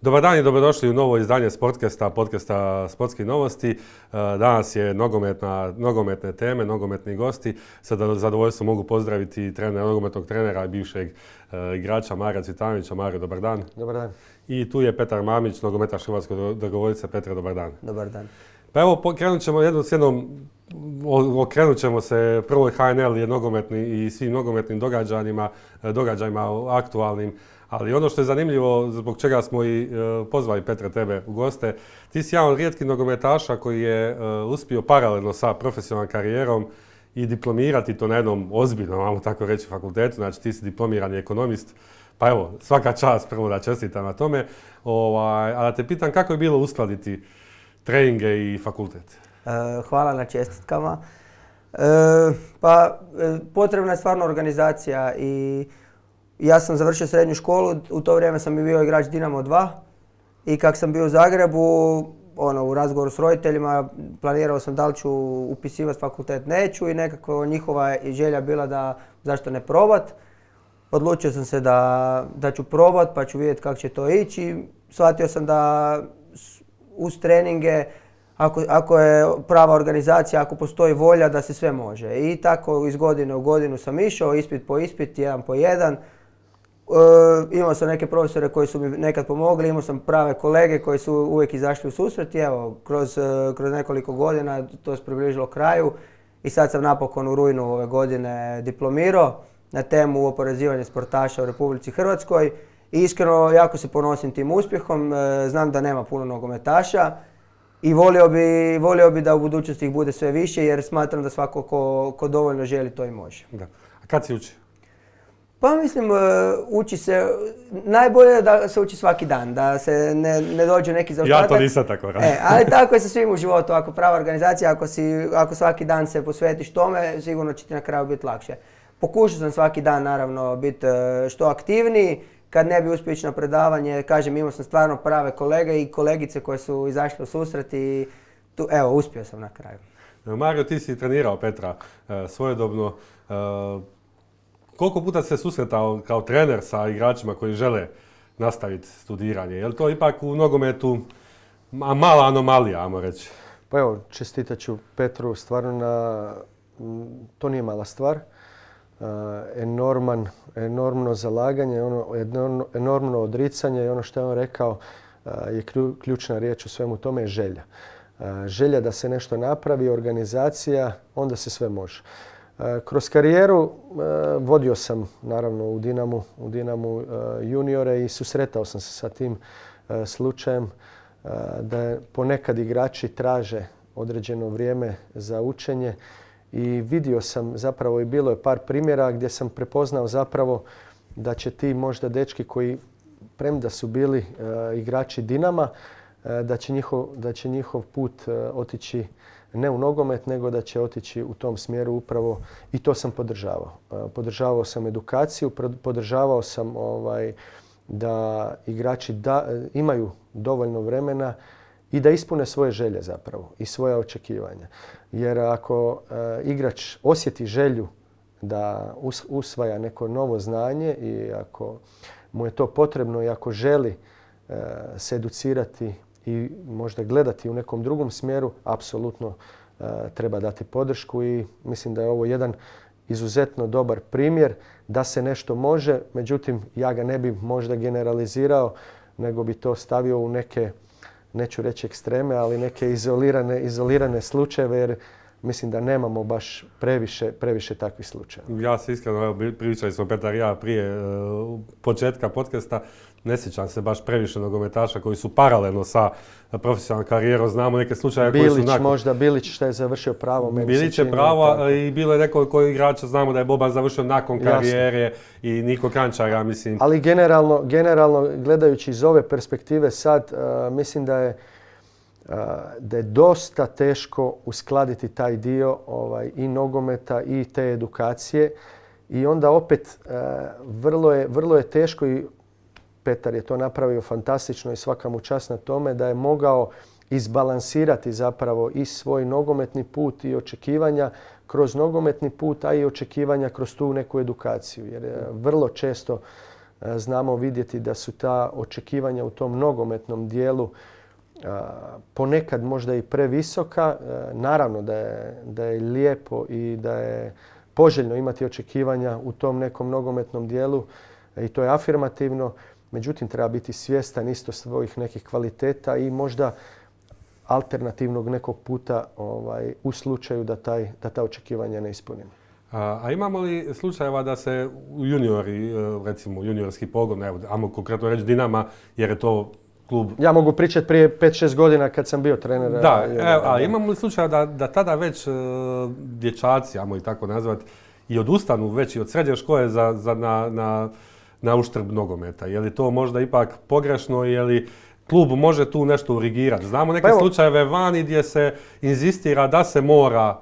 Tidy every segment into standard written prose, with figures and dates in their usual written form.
Dobar dan i dobrodošli u novo izdanje podcasta Sportskih novosti. Danas je nogometne teme, nogometni gosti. Sa zadovoljstvom mogu pozdraviti nogometnog trenera i bivšeg igrača Marija Cvitanovića. Mario, dobar dan. Dobar dan. I tu je Petar Mamić, nogometaš Hrvatskog dragovoljca. Petre, dobar dan. Dobar dan. Pa evo, okrenut ćemo se prvoj HNL i svim nogometnim događajima aktualnim. Ali ono što je zanimljivo, zbog čega smo i pozvali Petre tebe u goste, ti si jedan od rijetkih nogometaša koji je uspio paralelno sa profesionalnom karijerom i diplomirati to na jednom ozbiljnom, ajmo tako reći, fakultetu. Znači ti si diplomirani ekonomist, pa evo, svaka čast prvo da čestitam na tome. A da te pitam kako je bilo uskladiti treninge i fakultet? Hvala na čestitkama. Potrebna je stvarno organizacija i ja sam završio srednju školu, u to vrijeme sam bio igrač Dinamo 2 i kak sam bio u Zagrebu, u razgovoru s roditeljima, planirao sam da li ću upisivati fakultet, neću i nekako njihova želja bila da zašto ne probat. Odlučio sam se da ću probat pa ću vidjeti kako će to ići. Shvatio sam da uz treninge, ako je prava organizacija, ako postoji volja da se sve može. I tako iz godine u godinu sam išao, ispit po ispit, jedan po jedan. Imao sam neke profesore koji su mi nekad pomogli, imao sam prave kolege koji su uvijek izašli u susret i evo, kroz nekoliko godina to se približilo kraju i sad sam napokon u rujnu ove godine diplomirao na temu oporezivanja sportaša u Republici Hrvatskoj. I iskreno jako se ponosim tim uspjehom, znam da nema puno nogometaša i volio bi da u budućnosti ih bude sve više jer smatram da svako ko dovoljno želi to i može. Da. A kad si učio? Pa mislim, uči se, najbolje je da se uči svaki dan, da se ne dođe neki zaostatak. Ja to nisam tako radio. Ali tako je sa svim u životu, ako prava organizacija, ako svaki dan se posvetiš tome, sigurno će ti na kraju biti lakše. Pokušao sam svaki dan naravno biti što aktivniji, kad ne bi uspio ići na predavanje, kažem imao sam stvarno prave kolege i kolegice koje su izašle u susret i uspio sam na kraju. Mario, ti si trenirao Petra svojedobno. Koliko puta se susretao kao trener sa igračima koji žele nastaviti studiranje? Je li to ipak u nogometu mala anomalija, ajmo reći? Pa evo, čestitat ću Petru stvarno to nije mala stvar. Enormno zalaganje, enormno odricanje i ono što je on rekao je ključna riječ u svemu tome je želja. Želja da se nešto napravi, organizacija, onda se sve može. Kroz karijeru vodio sam naravno u Dinamu juniore i susretao sam se sa tim slučajem da ponekad igrači traže određeno vrijeme za učenje i vidio sam zapravo i bilo je par primjera gdje sam prepoznao zapravo da će ti možda dečki koji premda su bili igrači Dinama, da će njihov put otići ne u nogomet, nego da će otići u tom smjeru upravo i to sam podržavao. Podržavao sam edukaciju, podržavao sam da igrači imaju dovoljno vremena i da ispune svoje želje zapravo i svoja očekivanja. Jer ako igrač osjeti želju da usvaja neko novo znanje i ako mu je to potrebno i ako želi se educirati i možda gledati u nekom drugom smjeru, apsolutno treba dati podršku i mislim da je ovo jedan izuzetno dobar primjer da se nešto može, međutim ja ga ne bi možda generalizirao, nego bi to stavio u neke, neću reći ekstreme, ali neke izolirane slučajeve jer mislim da nemamo baš previše takvih slučajeva. Ja se iskreno, pričali smo Petar i ja prije početka podcasta, ne sjećam se baš previše nogometaša koji su paralelno sa profesionalnom karijerom. Znamo neke slučaje koji su Bilić što je završio pravo. Bilić je pravo i bilo je nekoliko igrača, znamo da je Boban završio nakon karijere i Niko Kančara, mislim. Ali generalno gledajući iz ove perspektive sad, mislim da je dosta teško uskladiti taj dio i nogometa i te edukacije i onda opet vrlo je teško i Petar je to napravio fantastično i svaka mu čast na tome da je mogao izbalansirati zapravo i svoj nogometni put i očekivanja kroz nogometni put, a i očekivanja kroz tu neku edukaciju. Jer vrlo često znamo vidjeti da su ta očekivanja u tom nogometnom dijelu ponekad možda i previsoka. Naravno da je lijepo i da je poželjno imati očekivanja u tom nekom nogometnom dijelu i to je afirmativno. Međutim, treba biti svjestan isto svojih nekih kvaliteta i možda alternativnog nekog puta u slučaju da ta očekivanja ne ispunimo. A imamo li slučajeva da se juniori, recimo juniorski pogon, evo, ajmo konkretno reći Dinama, jer je to klub... Ja mogu pričati prije 5-6 godina kad sam bio trener. Da, ali imamo li slučajeva da tada već dječaci, ajmo ih tako nazvati, i odustanu već i od srednje škole na uštrb nogometa? Je li to možda ipak pogrešno, je li klub može tu nešto urigirati? Znamo neke slučajeve vani gdje se inzistira da se mora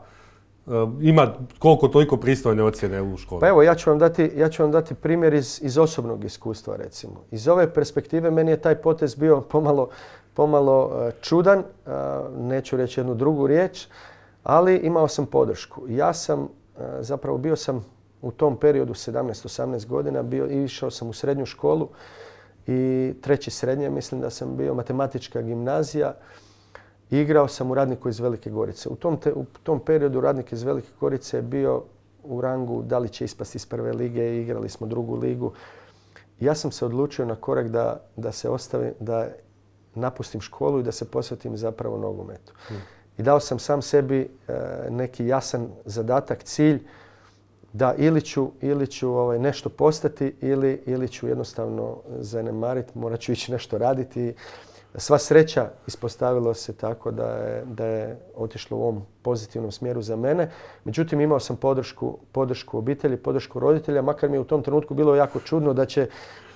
ima koliko toliko pristojne ocjene u školi. Pa evo, ja ću vam dati primjer iz osobnog iskustva, recimo. Iz ove perspektive meni je taj potez bio pomalo čudan, neću reći jednu drugu riječ, ali imao sam podršku. Ja sam, zapravo bio sam u tom periodu 17-18 godina, išao sam u srednju školu i treći srednje, mislim da sam bio matematička gimnazija. Igrao sam u Radniku iz Velike Gorice. U tom periodu Radnik iz Velike Gorice je bio u rangu da li će ispasti iz prve lige i igrali smo drugu ligu. Ja sam se odlučio na korak da napustim školu i da se posvetim zapravo nogometu. I dao sam sam sebi neki jasan zadatak, cilj da ili ću nešto postati ili ću jednostavno zanemariti, morat ću ići nešto raditi. Sva sreća ispostavilo se tako da je otišlo u ovom pozitivnom smjeru za mene. Međutim, imao sam podršku obitelji, podršku roditelja, makar mi je u tom trenutku bilo jako čudno da će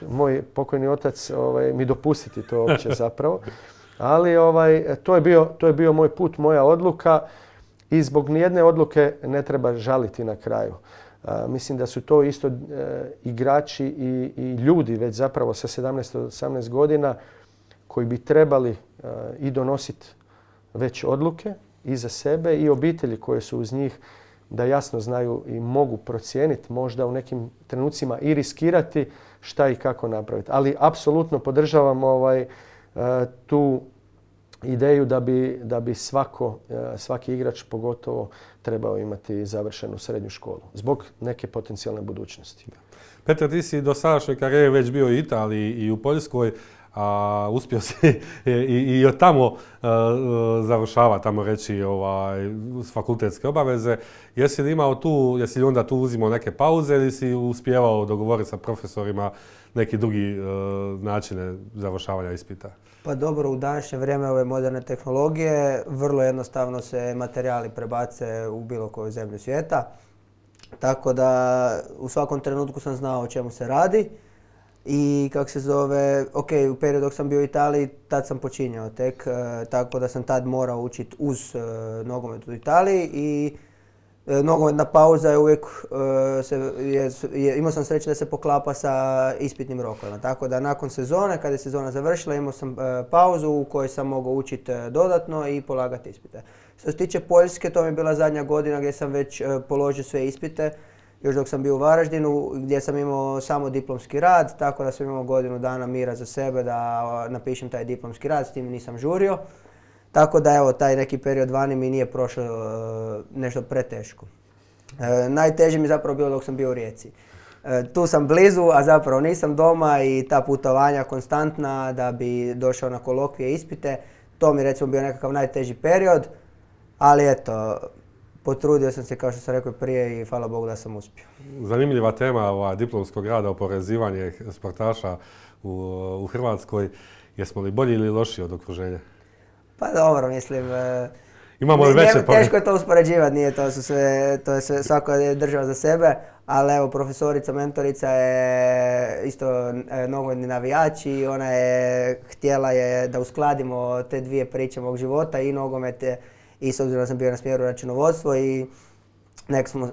moj pokojni otac mi dopustiti to uopće zapravo. Ali to je bio moj put, moja odluka i zbog nijedne odluke ne treba žaliti na kraju. Mislim da su to isto igrači i ljudi već zapravo sa 17-18 godina koji bi trebali i donositi već odluke i za sebe i obitelji koje su uz njih, da jasno znaju i mogu procijeniti, možda u nekim trenucima i riskirati šta i kako napraviti. Ali apsolutno podržavam tu ideju da bi svaki igrač pogotovo trebao imati završenu srednju školu zbog neke potencijalne budućnosti. Petar, ti si do sadašnje karijere već bio u Italiji i u Poljskoj, a uspio si i od tamo završava, tamo reći, fakultetske obaveze. Jesi li onda tu uzimao neke pauze ili si uspijevao dogovoriti sa profesorima neki drugi načine završavanja ispita? Pa dobro, u današnje vrijeme ove moderne tehnologije vrlo jednostavno se materijali prebace u bilo koju zemlju svijeta. Tako da u svakom trenutku sam znao o čemu se radi. I u periodu dok sam bio u Italiji, tad sam počinjao tek, tako da sam tad morao učiti uz nogomet u Italiji i nogometna pauza je uvijek, imao sam sreće da se poklapa sa ispitnim rokovima. Tako da nakon sezone, kada je sezona završila, imao sam pauzu u kojoj sam mogao učiti dodatno i polagati ispite. Što se tiče Poljske, to mi je bila zadnja godina gdje sam već položio sve ispite. Još dok sam bio u Varaždinu, gdje sam imao samo diplomski rad, tako da sam imao godinu dana mira za sebe da napišem taj diplomski rad, s tim nisam žurio. Tako da evo, taj neki period vani mi nije prošao nešto preteško. Najteže mi zapravo bilo dok sam bio u Rijeci. Tu sam blizu, a zapravo nisam doma i ta putovanja konstantna da bi došao na kolokvije i ispite, to mi recimo bio nekakav najteži period, ali eto, potrudio sam se, kao što sam rekao prije, i hvala Bogu da sam uspio. Zanimljiva tema diplomskog rada, oporezivanje sportaša u Hrvatskoj. Jesmo li bolji ili lošiji od okruženja? Pa dobro, mislim, imamo li veće teško je to uspoređivati, nije to sve, svako je država za sebe, ali evo, profesorica, mentorica je isto nogometni navijač i ona je htjela da uskladimo te dvije priče mog života, i nogomete, i s obzirom da sam bio na smjeru računovodstvo, i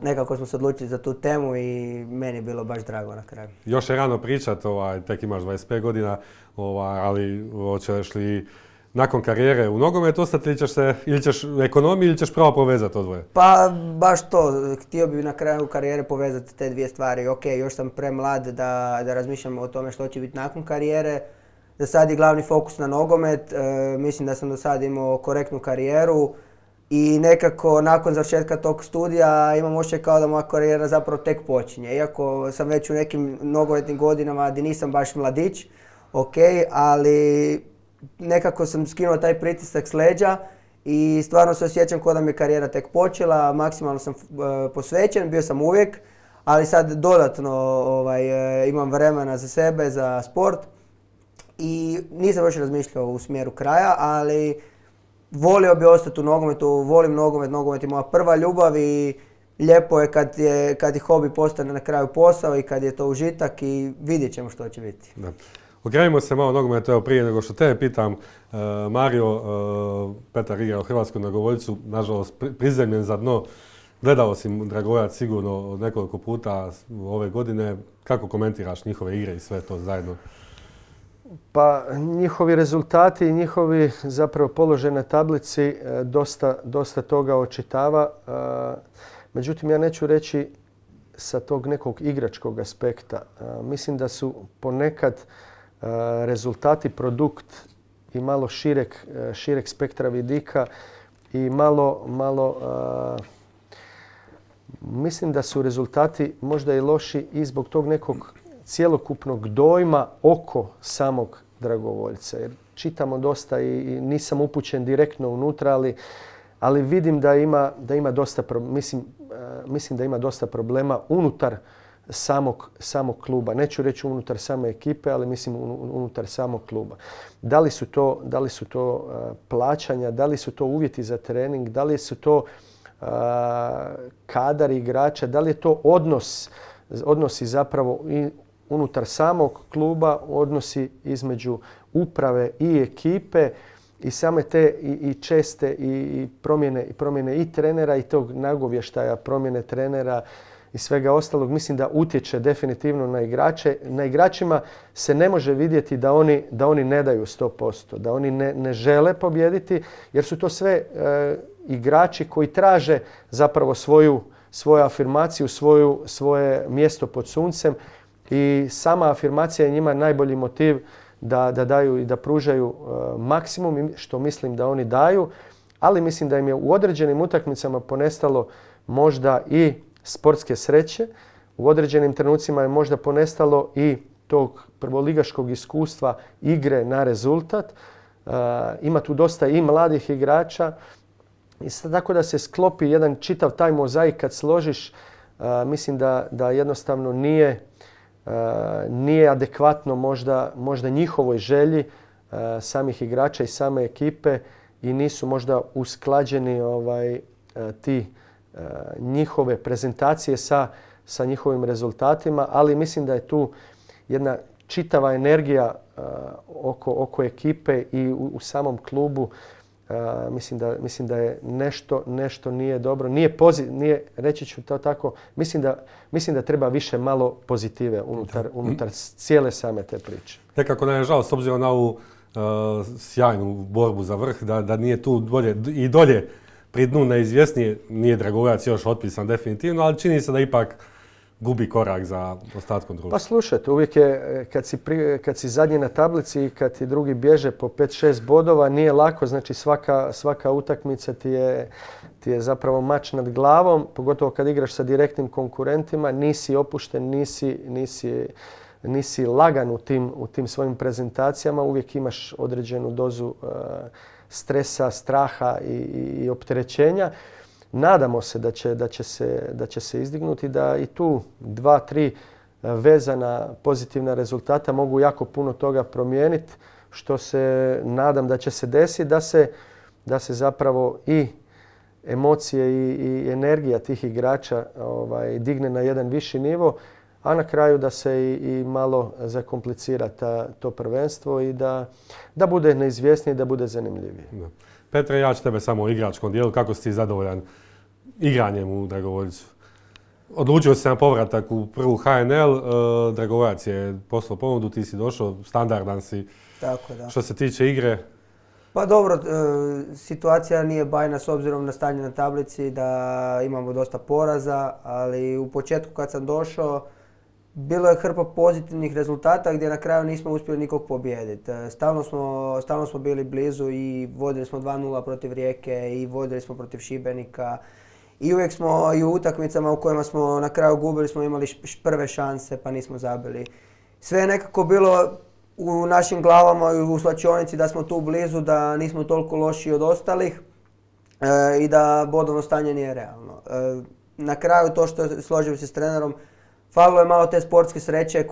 nekako smo se odlučili za tu temu i meni je bilo baš drago na kraju. Još je rano pričat, tek imaš 25 godina, ali hoćeš li nakon karijere u nogometu ostati ili ćeš u ekonomiji ili ćeš pravo povezati to dvoje? Pa baš to, htio bih na kraju karijere povezati te dvije stvari. Ok, još sam premlad da razmišljam o tome što će biti nakon karijere. Za sad je glavni fokus na nogomet, mislim da sam do sad imao korektnu karijeru i nekako nakon završetka tog studija imam osjećaj kao da moja karijera zapravo tek počinje. Iako sam već u nekim nogometnim godinama gdje nisam baš mladić, ok, ali nekako sam skinuo taj pritisak s leđa i stvarno se osjećam kao da mi je karijera tek počela, maksimalno sam posvećen, bio sam uvijek, ali sad dodatno imam vremena za sebe, za sport i nisam još razmišljao u smjeru kraja, ali volio bi ostati u nogometu, volim nogomet, nogomet je moja prva ljubav i lijepo je kad je hobi postane na kraju posao i kad je to užitak i vidjet ćemo što će biti. Da. Okrenimo se malo nogometu, evo prije nego što tebe pitam, Mario, Petar igra u Hrvatskoj Dragovoljcu, nažalost prizemljen za dno. Gledao si Dragovoljac sigurno nekoliko puta ove godine. Kako komentiraš njihove igre i sve to zajedno? Pa njihovi rezultati i njihovi zapravo položaj na tablici dosta toga očitava. Međutim, ja neću reći sa tog nekog igračkog aspekta. Mislim da su ponekad rezultati produkt i malo šireg spektra vidika i mislim da su rezultati možda i loši i zbog tog nekog cjelokupnog dojma oko samog dragovoljca. Jer čitamo dosta i nisam upućen direktno unutra, ali vidim da ima dosta, mislim da ima dosta problema unutar samog kluba. Neću reći unutar same ekipe, ali mislim unutar samog kluba. Da li su to plaćanja, da li su to uvjeti za trening, da li su to kadar igrača, da li je to odnosi zapravo i unutar samog kluba, odnosi između uprave i ekipe i same te i česte i promjene i trenera i tog nagovještaja, promjene trenera i svega ostalog. Mislim da utječe definitivno na igrače. Na igračima se ne može vidjeti da oni ne daju 100%, da oni ne žele pobijediti, jer su to sve igrači koji traže zapravo svoju afirmaciju, svoje mjesto pod suncem i sama afirmacija je njima najbolji motiv da daju i da pružaju maksimum, što mislim da oni daju, ali mislim da im je u određenim utakmicama ponestalo možda i sportske sreće, u određenim trenucima je možda ponestalo i tog prvoligaškog iskustva igre na rezultat. Ima tu dosta i mladih igrača. I tako da se sklopi jedan čitav taj mozaik kad složiš, mislim da jednostavno nije adekvatno možda njihovoj želji samih igrača i same ekipe i nisu možda usklađeni ti njihove prezentacije sa njihovim rezultatima, ali mislim da je tu jedna čitava energija oko ekipe i u samom klubu. Mislim da je nešto nije dobro. Nije, reći ću to tako, mislim da treba više malo pozitive unutar cijele same te priče. Nekako nam je žao, s obzirom na ovu sjajnu borbu za vrh, da nije tu i dolje pri dnu neizvjesnije. Nije Dragovoljac još otpisan definitivno, ali čini se da ipak gubi korak za ostatkom društva. Pa slušajte, uvijek je kad si zadnji na tablici i kad ti drugi bježe po 5-6 bodova, nije lako, znači svaka utakmica ti je zapravo mač nad glavom, pogotovo kad igraš sa direktnim konkurentima, nisi opušten, nisi lagan u tim svojim prezentacijama, uvijek imaš određenu dozu stresa, straha i opterećenja. Nadamo se da će se izdignuti, da i tu 2-3 vezana pozitivna rezultata mogu jako puno toga promijeniti, što se nadam da će se desiti, da se zapravo i emocije i energija tih igrača digne na jedan viši nivo, a na kraju da se i malo zakomplicira to prvenstvo i da bude neizvjesnije i da bude zanimljivije. Da. Petre, ja ću tebe samo u igračkom dijelu. Kako si ti zadovoljan igranjem u Dragovoljcu? Odlučio si se na povratak u prvu HNL, Dragovoljac je poslao ponudu, ti si došao, standardan si. Tako da. Što se tiče igre? Pa dobro, situacija nije bajna s obzirom na stanje na tablici, da imamo dosta poraza, ali u početku kad sam došao, bilo je hrpa pozitivnih rezultata gdje na kraju nismo uspjeli nikog pobijediti. Stalno smo bili blizu i vodili smo 2:0 protiv Rijeke i vodili smo protiv Šibenika. I uvijek smo i u utakmicama u kojima smo na kraju gubili smo imali prve šanse pa nismo zabili. Sve je nekako bilo u našim glavama i u slačionici da smo tu blizu, da nismo toliko loši od ostalih i da bodovno stanje nije realno. Na kraju to što složio se s trenerom, falilo je malo te sportske sreće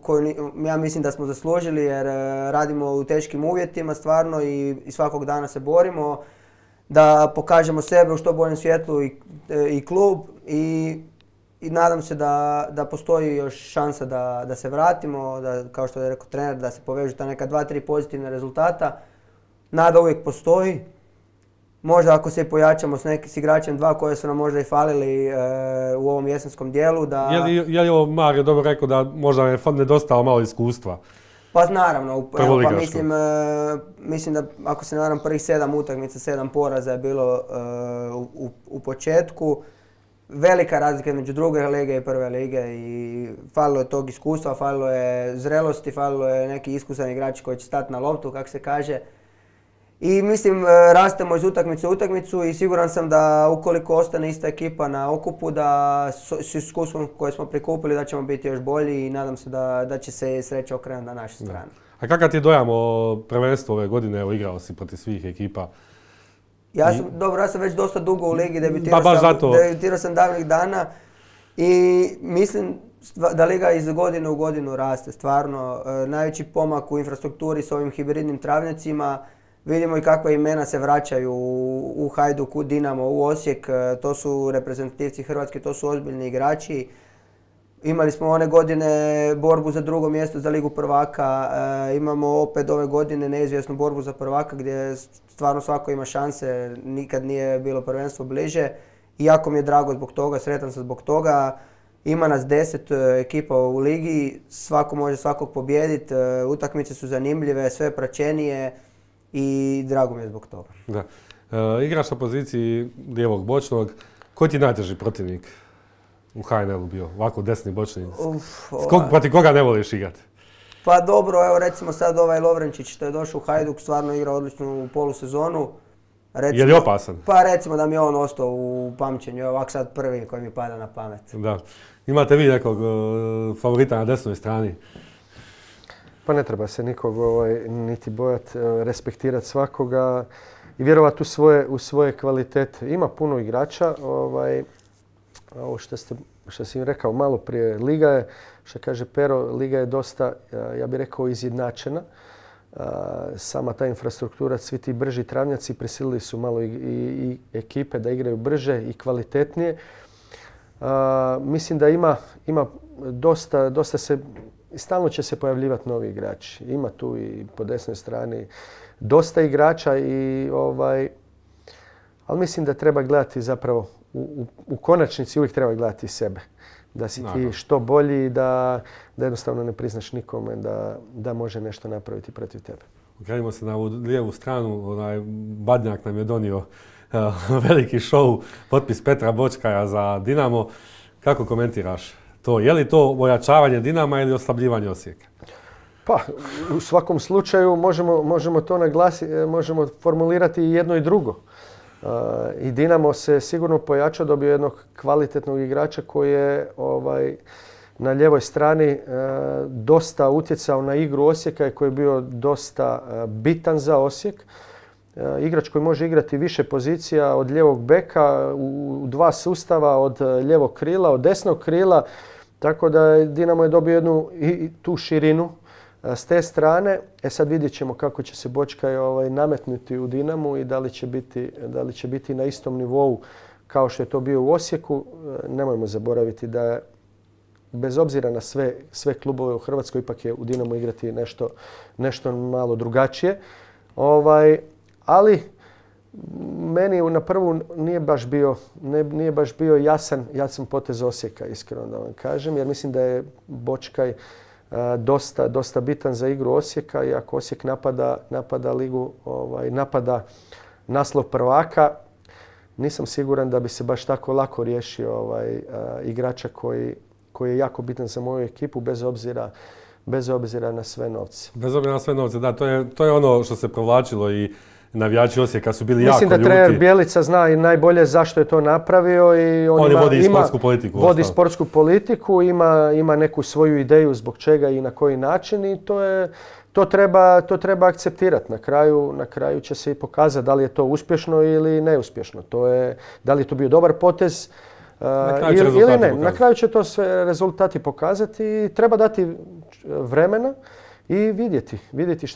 koju ja mislim da smo zaslužili jer radimo u teškim uvjetima stvarno i svakog dana se borimo da pokažemo sebe u što boljem svjetlu i klub i nadam se da postoji još šansa da se vratimo, da, kao što je rekao trener, da se povežu ta neka 2-3 pozitivna rezultata. Nada uvijek postoji. Možda ako se i pojačamo s igračem 2 koje su nam možda i falili u ovom jesenskom dijelu. Je li ovo Mario dobro rekao da možda je nedostalo malo iskustva? Pa naravno, mislim da ako se ne varam prvih 7 utakmica, 7 poraza je bilo u početku. Velika razlika između druge lige i prve lige i falilo je tog iskustva, falilo je zrelosti, falilo je neki iskusan igrač koji će stati na loptu, kako se kaže. I mislim, rastemo iz utakmice u utakmicu i siguran sam da ukoliko ostane ista ekipa na okupu, da s iskustvom koje smo prikupili da ćemo biti još bolji i nadam se da će se sreća okrenuti na našu stranu. A kakav ti dojam o prvenstvu ove godine? Evo, igrao si protiv svih ekipa. Ja sam već dosta dugo u ligi, debitirao sam davnih dana i mislim da liga iz godine u godinu raste. Stvarno, najveći pomak u infrastrukturi s ovim hibridnim travnjacima. Vidimo i kakva imena se vraćaju u Hajduk, u Dinamo, u Osijek. To su reprezentativci Hrvatske, to su ozbiljni igrači. Imali smo one godine borbu za drugo mjesto za Ligu prvaka. Imamo opet ove godine neizvjesnu borbu za prvaka gdje stvarno svako ima šanse. Nikad nije bilo prvenstvo bliže. I jako mi je drago zbog toga, sretan sam zbog toga. Ima nas 10 ekipa u ligi, svako može svakog pobijediti. Utakmice su zanimljive, sve praćenije. I drago mi je zbog toga. Da. Igraš na poziciji lijevog bočnog. Ko ti je najteži protivnik u HNL-u bio? Ovako desni bočni. Protiv koga ne voliš igrati? Pa dobro, evo recimo sad ovaj Lovrenčić što je došao u Hajduk, stvarno igra odličnu polusezonu. Je li opasan? Pa recimo da mi je on ostao u pamćenju, ovak sad prvi koji mi pada na pamet. Da. Imate vi nekog favorita na desnoj strani? Pa ne treba se nikog niti bojati, respektirati svakoga i vjerovati u svoje kvalitete. Ima puno igrača, ovo što si im rekao malo prije, liga je, što kaže Pero, liga je dosta, ja bih rekao, izjednačena. Sama ta infrastruktura, svi ti brži travnjaci prisilili su malo i ekipe da igraju brže i kvalitetnije. Mislim da ima dosta se, stalno će se pojavljivati novi igrači. Ima tu i po desnoj strani dosta igrača ali mislim da treba gledati zapravo u konačnici uvijek treba gledati sebe. Da si ti što bolji i da jednostavno ne priznaš nikome da može nešto napraviti protiv tebe. Okrenimo se na ovu lijevu stranu. Badnjak nam je donio veliki show, potpis Petra Bočkaja za Dinamo. Kako komentiraš to? Je li to ojačavanje Dinama ili oslabljivanje Osijeka? Pa, u svakom slučaju možemo to naglasiti, možemo formulirati i jedno i drugo. I Dinamo se sigurno pojačao, dobio jednog kvalitetnog igrača koji je na lijevoj strani dosta utjecao na igru Osijeka i koji je bio dosta bitan za Osijek. Igrač koji može igrati više pozicija od lijevog beka, u 2 sustava, od lijevog krila, od desnog krila. Tako da Dinamo je dobio jednu tu širinu s te strane. Sad vidjet ćemo kako će se Bočkaj nametnuti u Dinamu i da li će biti na istom nivou kao što je to bio u Osijeku. Nemojmo zaboraviti da bez obzira na sve klubove u Hrvatskoj ipak je u Dinamu igrati nešto malo drugačije. Ali meni na prvu nije baš bio jasan potez Osijeka, iskreno da vam kažem, jer mislim da je Bočkaj dosta bitan za igru Osijeka i ako Osijek napada ligu, napada naslov prvaka, nisam siguran da bi se baš tako lako riješio igrača koji je jako bitan za moju ekipu bez obzira na sve novce. Bez obzira na sve novce, da, to je ono što se provlačilo i navijači Osijeka su bili jako ljuti. Mislim da trener Bjelica zna i najbolje zašto je to napravio i on vodi sportsku politiku. Vodi sportsku politiku, ima neku svoju ideju zbog čega i na koji način i to treba akceptirati. Na kraju će se i pokazati da li je to uspješno ili neuspješno. Da li je to bio dobar potez ili ne. Na kraju će to sve rezultati pokazati i treba dati vremena i vidjeti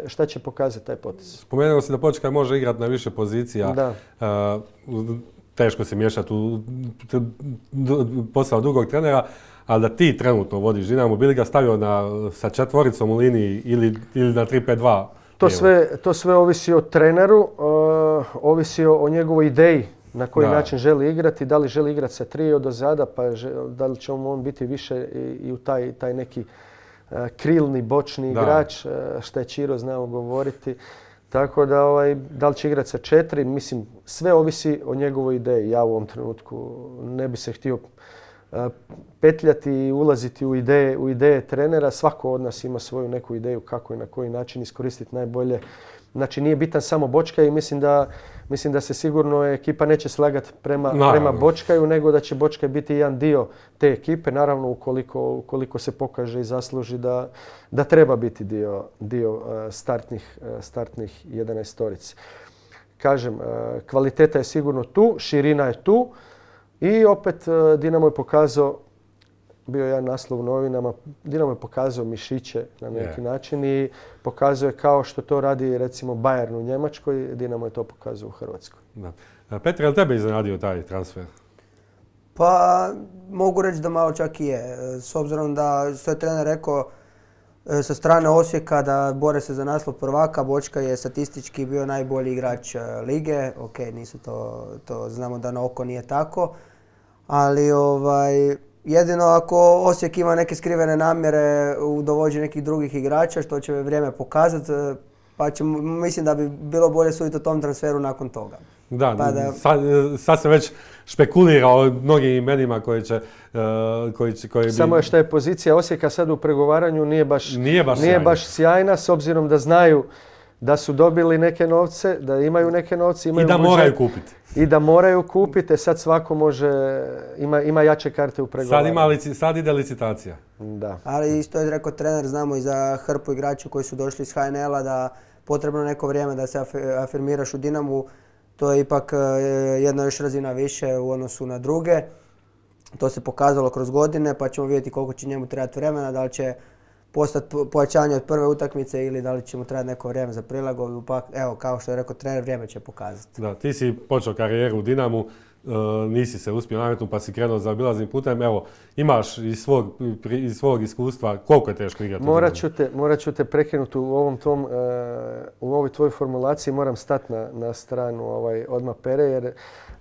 šta će pokazati taj potez. Spomenuo si da Počkaj može igrati na više pozicija. Da. Teško se miješati u posao drugog trenera, ali da ti trenutno vodiš Dinamo, bi li ga stavio sa četvoricom u liniji ili na 3-5-2? To sve ovisi o treneru, ovisi o njegovoj ideji na koji način želi igrati, da li želi igrati sa trio do zada, pa da li će on biti više i u taj neki krilni, bočni igrač, što je Čiro znao govoriti. Tako da li će igrati sa 4, mislim, sve ovisi o njegovoj ideji. Ja u ovom trenutku ne bi se htio petljati i ulaziti u ideje trenera. Svako od nas ima svoju neku ideju kako i na koji način iskoristiti najbolje. Znači nije bitan samo Bočkaj i mislim da se sigurno ekipa neće slagati prema Bočkaju, nego da će Bočkaj biti jedan dio te ekipe. Naravno ukoliko se pokaže i zasluži da treba biti dio startnih 11-torice. Kažem, kvaliteta je sigurno tu, širina je tu i opet Dinamo je pokazao, bio je jedan naslov u novinama, Dinamo je pokazao mišiće na neki način i pokazao je kao što to radi recimo Bayern u Njemačkoj, Dinamo je to pokazao u Hrvatskoj. Da. Petre, je li tebe iznenadio taj transfer? Pa mogu reći da malo čak i je. S obzirom da što je trener rekao sa strane Osijeka da bore se za naslov prvaka, Bočkaj je statistički bio najbolji igrač lige. Ok, nisu to znamo da na oko nije tako, ali jedino ako Osijek ima neke skrivene namjere u dovođenju nekih drugih igrača, što će vrijeme pokazati, pa mislim da bi bilo bolje suditi o tom transferu nakon toga. Sad se već špekulira o mnogim imenima koji Samo je što je pozicija Osijeka sad u pregovaranju nije baš sjajna, s obzirom da znaju da su dobili neke novce, da imaju neke novce, i da moraju kupiti. I da moraju kupiti, sad svako ima jače karte u pregovaranju. Sad ide licitacija. Da. Ali isto je rekao trener, znamo i za hrpu igrača koji su došli iz HNL-a da potrebno neko vrijeme da se afirmiraš u Dinamu. To je ipak jedna još razina više u odnosu na druge. To se pokazalo kroz godine, pa ćemo vidjeti koliko će njemu trebati vremena, da li će postati pojačanje od prve utakmice ili da li će mu trebati neko vrijeme za prilagodbu. Pa evo, kao što je rekao trener, vrijeme će pokazati. Da, ti si počeo karijeru u Dinamu, nisi se uspio nametnuti pa si krenuo za obilaznim putem. Evo, imaš iz svog iskustva koliko je teško igrati u Dinamu? Morat ću te prekinuti u ovoj tvojoj formulaciji, moram stati na stranu odmah Pere, jer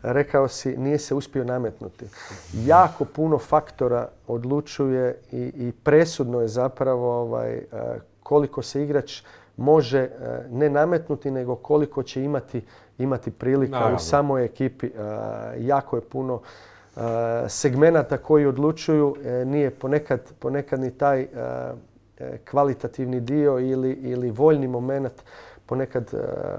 rekao si nije se uspio nametnuti. Jako puno faktora odlučuje i presudno je zapravo koliko se igrač može ne nametnuti, nego koliko će imati prilika u samoj ekipi. Jako je puno segmenata koji odlučuju, nije ponekad ni taj kvalitativni dio ili voljni moment, ponekad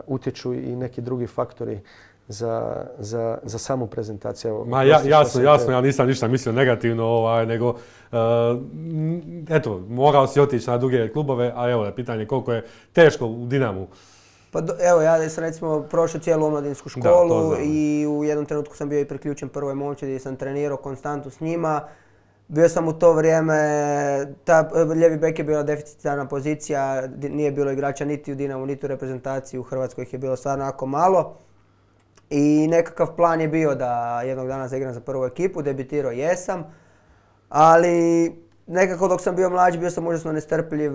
utječu i neki drugi faktori za samu prezentaciju. Jasno, ja nisam ništa mislio negativno, nego eto, morao si otići na druge klubove, a evo je pitanje koliko je teško u Dinamu. Pa evo, ja sam recimo prošao cijelu omladinsku školu i u jednom trenutku sam bio i priključen prvoj momčadi gdje sam trenirao konstantno s njima. Bio sam u to vrijeme, lijevi bek je bila deficitarna pozicija, nije bilo igrača niti u Dinamu, niti u reprezentaciji, u Hrvatskoj ih je bilo stvarno jako malo. I nekakav plan je bio da jednog dana zaigram za prvu ekipu, debitirao jesam, ali nekako dok sam bio mlađi bio sam užasno nestrpljiv,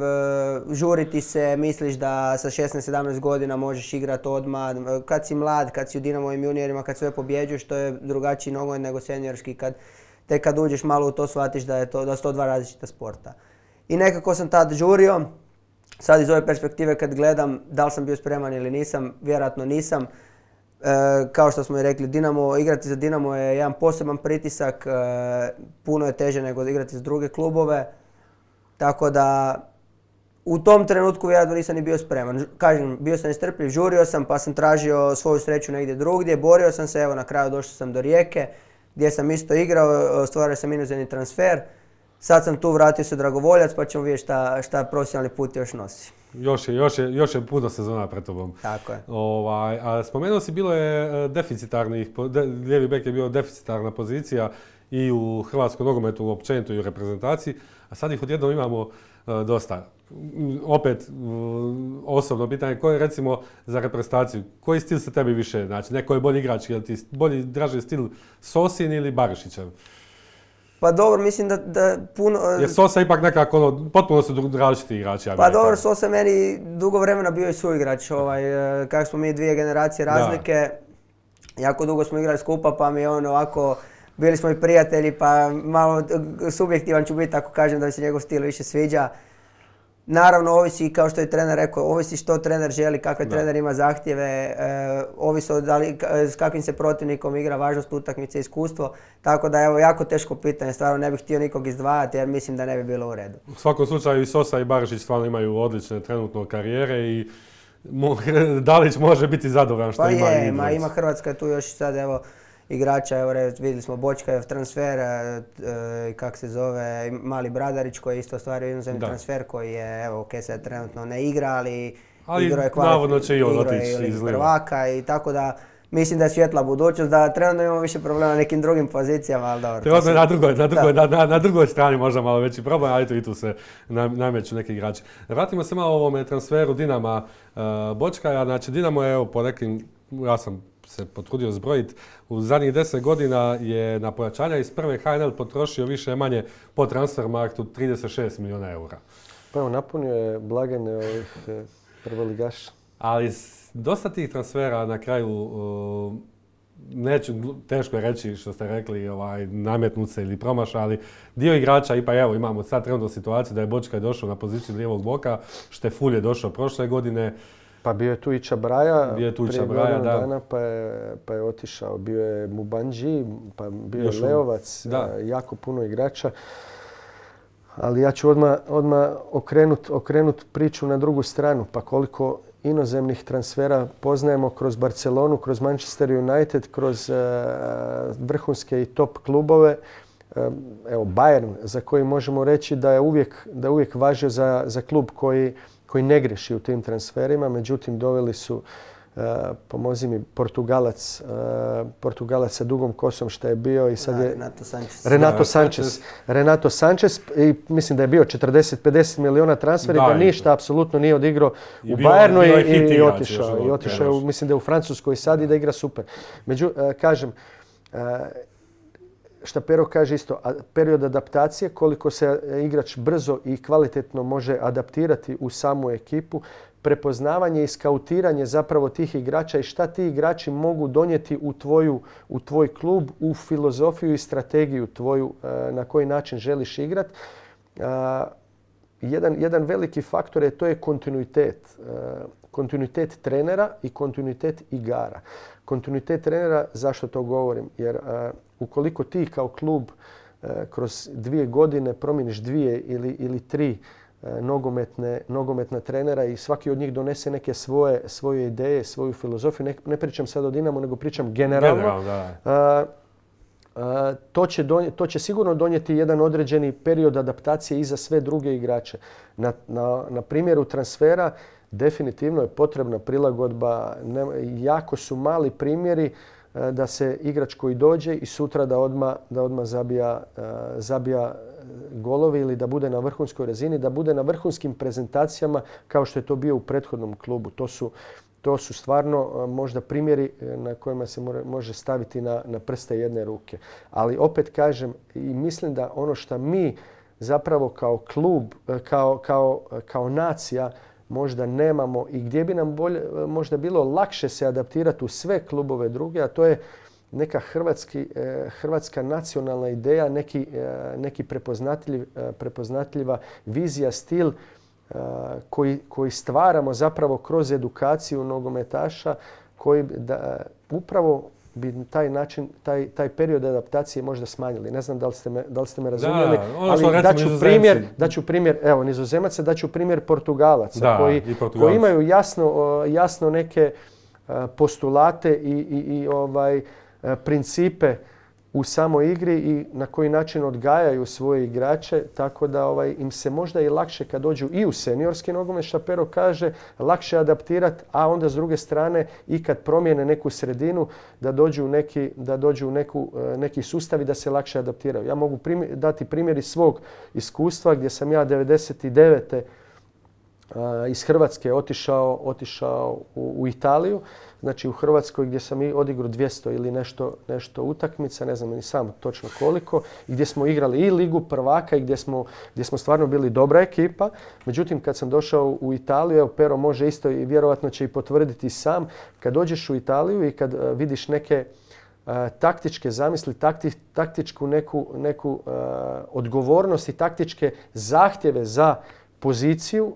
žuriti se, misliš da sa 16-17 godina možeš igrati odmah, kad si mlad, kad si u Dinamovim juniorima, kad sve pobjeđuješ, to je drugačiji nogomet nego seniorski, tek kad uđeš malo u to shvatiš da su to dva različita sporta. i nekako sam tad žurio. Sad iz ove perspektive kad gledam da li sam bio spreman ili nisam, vjerojatno nisam. Kao što smo i rekli, igrati za Dinamo je jedan poseban pritisak, puno je teže nego igrati za druge klubove. Tako da u tom trenutku vjerojatno nisam ni bio spreman. Kažem, bio sam nestrpljiv, žurio sam pa sam tražio svoju sreću negdje drugdje, borio sam se, evo na kraju došao sam do Rijeke gdje sam isto igrao, ostvario sam inozemni transfer. Sad sam tu, vratio se dragovoljac pa ćemo vidjeti šta profesionalni put još nosi. Još je puno sezona pred tobom. Tako je. A spomenuo si, bilo je deficitarnih, lijevi bek je bio deficitarna pozicija i u hrvatskom nogometu općenito i u reprezentaciji, a sad ih odjednom imamo dosta. Opet, osobno pitanje, koji je recimo za reprezentaciju, koji stil se tebi više, znači neko je bolji igrač, je li ti bolji, draži stil Sosin ili Barišićev? Pa dobro, mislim da puno... Jer Sosa ipak nekako, potpuno su različiti igrači. Pa dobro, Sosa meni dugo vremena bio i suigrač, kako smo mi 2 generacije razlike, jako dugo smo igrali skupa pa mi je on ovako, bili smo i prijatelji pa malo subjektivan ću biti ako kažem da mi se njegov stil više sviđa. Naravno, ovisi, kao što je trener rekao, ovisi što trener želi, kakve trener ima zahtjeve, ovisi s kakvim se protivnikom igra, važnost utakmice, iskustvo. Tako da evo, jako teško pitanje, stvarno ne bih htio nikog izdvajati jer mislim da ne bi bilo u redu. U svakom slučaju i Sosa i Barišić stvarno imaju odlične trenutno karijere i Dalić može biti zadovoljan što ima i dvojica. Ima Hrvatska tu još sad evo igrača, evo vidjeli smo Bočkajev transfer, kak se zove, Mali Bradarić koji je isto ostvario inozemni transfer koji je, evo ok, sad trenutno ne igra, ali igrao je kvalitetno prvaka i tako da mislim da je svjetla budućnost, da trenutno imamo više problema na nekim drugim pozicijama, ali dobro. Trenutno na drugoj strani možda malo veći problem, ali i tu se nameću neki igrači. Vratimo se malo ovome transferu Dinama Bočkaja, znači Dinamo je evo po nekim, ja sam se potrudio zbrojiti, u zadnjih 10 godina je na pojačanja iz prve HNL potrošio više manje po Transfermarktu 36 milijuna eura. Pa evo, napunio je blagajne ovih prvoligaša. Ali dosta tih transfera na kraju, teško je reći što ste rekli, nametnut se ili promaša, ali dio igrača, ipak evo imamo sad trenutno situaciju da je Bočkaj došao na poziciju lijevog boka, Štefulj je došao prošle godine. Pa bio je tu i Čabraja, prije godinu dana pa je otišao. Bio je Mubanji, pa bio je Leovac, jako puno igrača. Ali ja ću odmah okrenut priču na drugu stranu. Pa koliko inozemnih transfera poznajemo kroz Barcelonu, kroz Manchester United, kroz vrhunske i top klubove. Evo Bayern, za koji možemo reći da je uvijek važio za klub koji ne griješi u tim transferima, međutim doveli su, pomozi mi, Portugalac sa dugom kosom što je bio i sad je Renato Sanchez i mislim da je bio 40-50 milijuna transfer i da ništa apsolutno nije odigrao u Bayernu i otišao, mislim da je u Francuskoj sad i da igra super. Kažem, šta Pero kaže isto, period adaptacije, koliko se igrač brzo i kvalitetno može adaptirati u samu ekipu, prepoznavanje i skautiranje zapravo tih igrača i šta ti igrači mogu donijeti u tvoj klub, u filozofiju i strategiju tvoju na koji način želiš igrati. Jedan veliki faktor to je kontinuitet. Kontinuitet trenera i kontinuitet igara. Kontinuitet trenera, zašto to govorim? Jer ukoliko ti kao klub kroz 2 godine promijeniš 2 ili 3 nogometna trenera i svaki od njih donese neke svoje ideje, svoju filozofiju, ne pričam sad o Dinamu, nego pričam generalno, to će sigurno donijeti jedan određeni period adaptacije i za sve druge igrače. Na primjeru transfera definitivno je potrebna prilagodba. Jako su mali primjeri da se igrač koji dođe i sutra da odmah zabija golovi ili da bude na vrhunskoj razini, da bude na vrhunskim prezentacijama kao što je to bio u prethodnom klubu. To su stvarno možda primjeri na kojima se može staviti na prste jedne ruke. Ali opet kažem i mislim da ono što mi zapravo kao klub, kao nacija možda nemamo i gdje bi nam možda bilo lakše se adaptirati u sve klubove druge, a to je neka hrvatska nacionalna ideja, neki prepoznatljiva vizija, stil koji stvaramo zapravo kroz edukaciju nogometaša, koji upravo bi taj period adaptacije možda smanjili. Ne znam da li ste me razumjeli, ali daću primjer, evo, Nizozemaca, daću primjer Portugalaca koji imaju jasno neke postulate i principe u samoj igri i na koji način odgajaju svoje igrače, tako da im se možda i lakše kad dođu i u seniorski nogomet, šta Pero kaže, lakše adaptirati, a onda s druge strane i kad promijene neku sredinu da dođu u neki sustav i da se lakše adaptiraju. Ja mogu dati primjer iz svog iskustva gdje sam ja 99. iz Hrvatske otišao u Italiju. Znači u Hrvatskoj gdje sam odigrao 200 ili nešto utakmica, ne znam ni sam točno koliko, i gdje smo igrali i Ligu prvaka i gdje smo stvarno bili dobra ekipa. Međutim, kad sam došao u Italiju, evo Pero može isto i vjerojatno će i potvrditi sam, kad dođeš u Italiju i kad vidiš neke taktičke zamisli, taktičku neku odgovornost i taktičke zahtjeve za poziciju,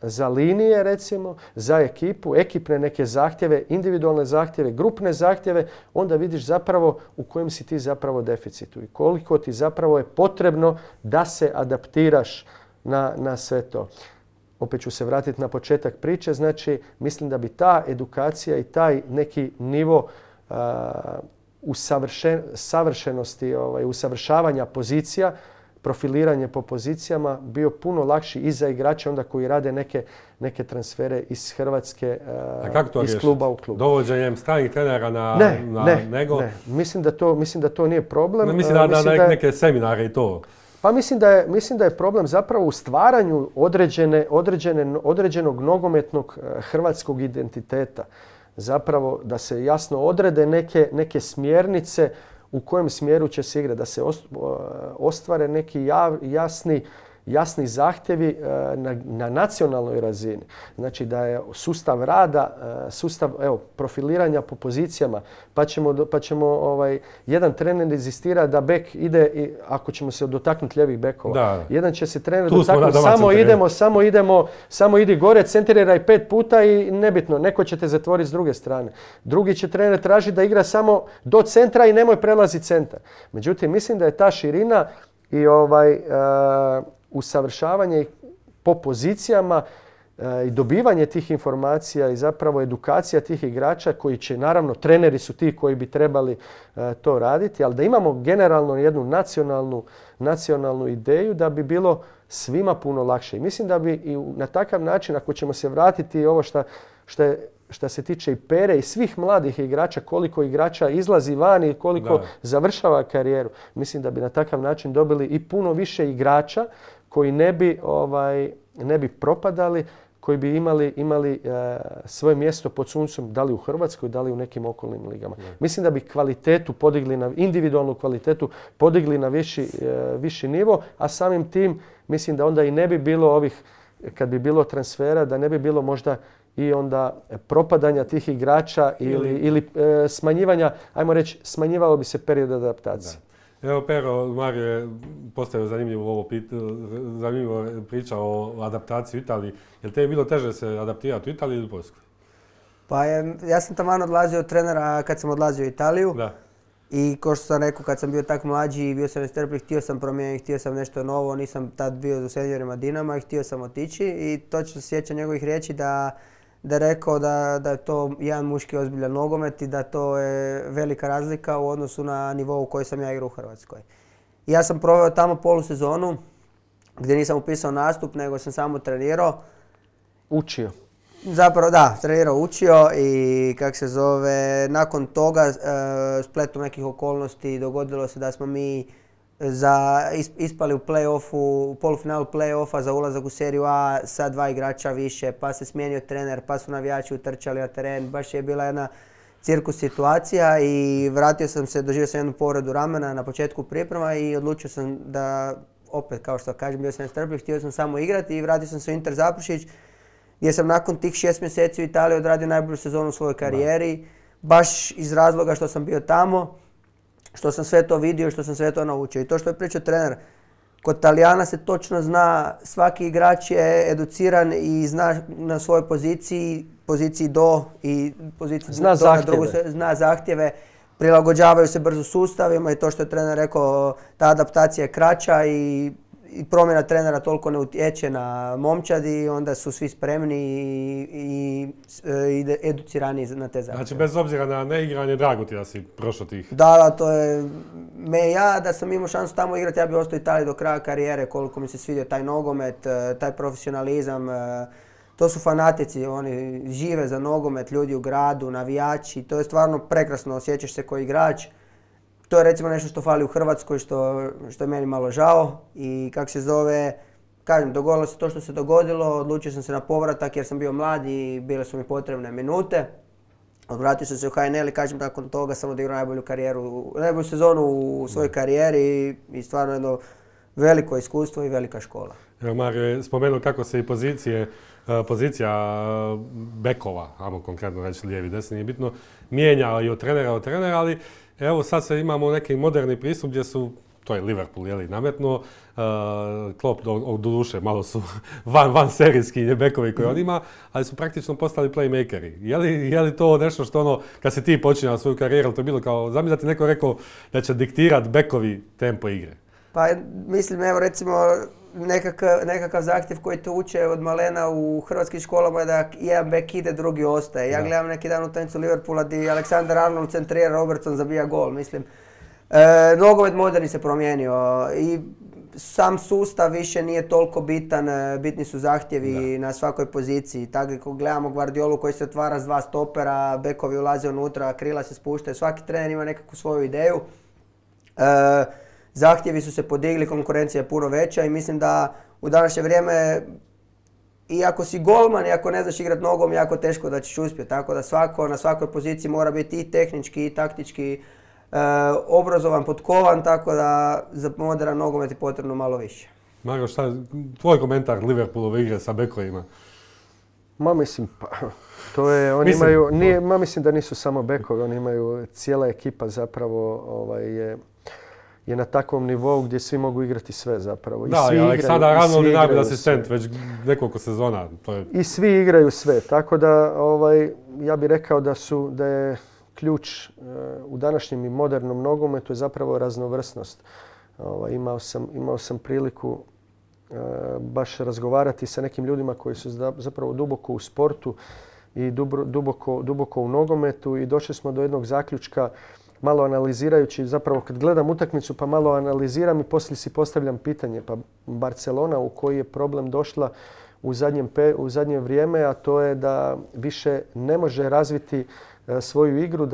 za linije recimo, za ekipu, ekipne neke zahtjeve, individualne zahtjeve, grupne zahtjeve, onda vidiš zapravo u kojem si ti zapravo deficitu i koliko ti zapravo je potrebno da se adaptiraš na sve to. Opet ću se vratiti na početak priče, znači mislim da bi ta edukacija i taj neki nivo savršenosti, usavršavanja pozicija, profiliranje po pozicijama bio puno lakši i za igrače onda koji rade neke transfere iz Hrvatske, iz kluba u klub. Dovođenjem stranih trenera nego? Ne. Mislim da to nije problem. Mislim da neke seminare i to. Pa mislim da je problem zapravo u stvaranju određenog nogometnog hrvatskog identiteta. Zapravo da se jasno odrede neke smjernice u kojem smjeru će se igrati, da se ostvare neki jasni zahtjevi na nacionalnoj razini. Znači da je sustav rada, sustav profiliranja po pozicijama, pa ćemo jedan trener inzistira da bek ide, ako ćemo se dotaknuti ljevih bekova. Jedan će se trener dotaknuti, samo idi gore, centriraj 5 puta i nebitno, neko će te zatvoriti s druge strane. Drugi će trener tražiti da igra samo do centra i nemoj prelaziti centar. Međutim, mislim da je ta širina i usavršavanje po pozicijama i dobivanje tih informacija i zapravo edukacija tih igrača koji će, naravno, treneri su ti koji bi trebali to raditi, ali da imamo generalno jednu nacionalnu ideju da bi bilo svima puno lakše. I mislim da bi i na takav način, ako ćemo se vratiti ovo što se tiče i Pere i svih mladih igrača, koliko igrača izlazi van i koliko završava karijeru, mislim da bi na takav način dobili i puno više igrača koji ne bi propadali, koji bi imali svoje mjesto pod suncem, da li u Hrvatskoj, da li u nekim okolnim ligama. Mislim da bi kvalitetu podigli individualnu kvalitetu podigli na viši nivo, a samim tim mislim da onda i ne bi bilo kad bi bilo transfera, da ne bi bilo možda i onda propadanja tih igrača ili smanjivanja, ajmo reći, smanjivalo bi se period adaptacije. Evo Pero, Mario je postavio zanimljivu priča o adaptaciji u Italiji. Je li te je bilo teže se adaptirati u Italiji ili u Poljskoj? Pa ja sam taman odlazio od trenera kad sam odlazio u Italiju. Da. I kao što sam rekao, kad sam bio tak mlađi i bio sam nestrpljiv, htio sam promijeniti, htio sam nešto novo, nisam tad bio u seniorima Dinama i htio sam otići. I točno se sjećam njegovih riječi da je rekao da je to jedan muški ozbiljan nogomet i da to je velika razlika u odnosu na nivou u kojoj sam ja igrao u Hrvatskoj. I ja sam proveo tamo polusezonu gdje nisam upisao nastup, nego sam samo trenirao. Učio. Zapravo da, trenirao, učio i nakon toga spletom nekih okolnosti dogodilo se da smo mi ispali u play-offu, u polufinalu play-offa za ulazak u seriju A sa 2 igrača više, pa se smijenio trener, pa su navijači utrčali na teren, baš je bila jedna cirkus situacija i vratio sam se, doživio sam jednu povredu ramena na početku priprema i odlučio sam da, opet kao što kažem, bio sam nestrpljiv, htio sam samo igrati i vratio sam se u Inter Zaprešić gdje sam nakon tih 6 mjeseci u Italiji odradio najbolju sezonu u svojoj karijeri. baš iz razloga što sam bio tamo, što sam sve to vidio, što sam sve to naučio. I to što je pričao trener, kod Talijana se točno zna, svaki igrač je educiran i zna na svojoj poziciji do i poziciji zna do na drugu, zna zahtjeve, prilagođavaju se brzo sustavima i to što je trener rekao, ta adaptacija je kraća i promjena trenera toliko ne utječe na momčad i onda su svi spremni i educirani na te zahtjeve. Znači, bez obzira na neigranje, drago ti da si prošao tih. Da, to je... Ja da sam imao šansu tamo igrati, ja bih ostao u Italiji do kraja karijere, koliko mi se svidio taj nogomet, taj profesionalizam. To su fanatici, oni žive za nogomet, ljudi u gradu, navijači, to je stvarno prekrasno, osjećaš se kao igrač. To je recimo nešto što fali u Hrvatskoj, što je meni malo žao i kako se zove, kažem, dogodilo se to što se dogodilo, odlučio sam se na povratak jer sam bio mlad i bile su mi potrebne minute. Odvratio sam se u HNL i kažem, nakon toga sam odigrao najbolju sezonu u svojoj karijeri i stvarno jedno veliko iskustvo i velika škola. Evo, Mario je spomenuo kako se i pozicija bekova, ajmo konkretno reći lijevi, desni, nije bitno, mijenja i od trenera, ali evo sad se imamo neki moderni pristup gdje su, to je Liverpool nametnuo, Klopp doduše malo su van serijski bekovi koje on ima, ali su praktično postali playmakeri. Je li to nešto što ono, kad si ti počinjao svoju karijeru, to je bilo kao, zamisli da ti neko rekao da će diktirati bekovi tempo igre? Pa mislim, evo recimo, nekakav zahtjev koji te uče od malena u hrvatskim školama je da jedan bek ide, drugi ostaje. Ja gledam neki dan utakmicu Liverpoola gdje Alexander Arnold centrira, Robertson zabija gol, mislim. Nogomet moderni se promijenio i sam sustav više nije toliko bitan, bitni su zahtjevi na svakoj poziciji. Tako ako gledamo Guardiolu koji se otvara s dva stopera, bekovi ulaze unutra, krila se spuštaju, svaki trener ima nekakvu svoju ideju. Zahtjevi su se podigli, konkurencija je puno veća i mislim da u današnje vrijeme i ako si golman i ako ne znaš igrati nogom, jako teško da ćeš uspjeti. Tako da svako na svakoj poziciji mora biti i tehnički i taktički obrazovan, potkovan, tako da za moderan nogomet je potrebno malo više. Mario, tvoj komentar Liverpoolove igre sa bekovima? Ma mislim, to je, mislim da nisu samo bekovi, oni imaju, cijela ekipa zapravo je na takvom nivou gdje svi mogu igrati sve zapravo. Da, Aleksandar Arnold je najbolji asistent već nekoliko sezona. I svi igraju sve, tako da ja bih rekao da je ključ u današnjem i modernom nogometu je zapravo raznovrsnost. Imao sam priliku baš razgovarati sa nekim ljudima koji su zapravo duboko u sportu i duboko u nogometu i došli smo do jednog zaključka malo analizirajući, zapravo kad gledam utakmicu pa malo analiziram i poslije si postavljam pitanje. Pa Barcelona u koji je problem došla u zadnje vrijeme, a to je da više ne može razviti svoju igru,